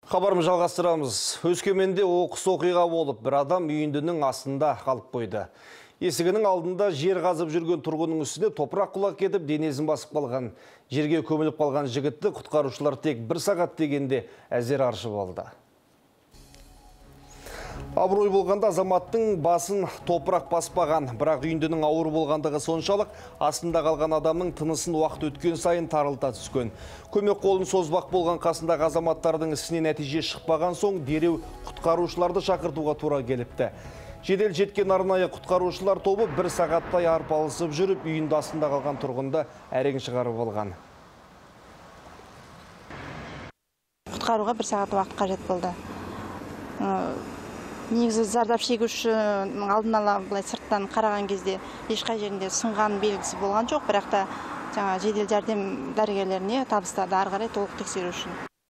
Хабарымызды жалғастырамыз. Өскеменде оқыс оқиға болып, бір адам үйіндінің астында қалып қойды. Есігінің алдында жер қазып жүрген тұрғынның үстіне топырақ құлап кетіп, денесін басып қалған. Жерге көміліп қалған жігітті құтқарушылар тек 1 сағат дегенде әзер аршып алды. Абырой болғанда азаматтың басын топырақ баспаған, бірақ үйіндінің ауыр болғандығы соншалық, астында қалған адамның тынысын уақыт өткен сайын тарылта түскен. Көмек қолын созбақ болған қасындағы азаматтардың ісіне нәтиже шықпаған соң, дереу құтқарушыларды шақыртуға тура келіпті. Жедел жеткен арнайы құтқарушылар тобы 1 сағаттай арпалысып жүріп, үйінде астында қалған тұрғынды әрең шығарып алған. Құтқаруға 1 сағат уақыт қажет болды. Негізі зардап шегушінің алдын ала былай сырттан қараған кезде ешқай жерінде сынған белгісі болған жоқ, бірақ та жедел жәрдем дәрігерлеріне табыстады ары қарай толық тексеру үшін.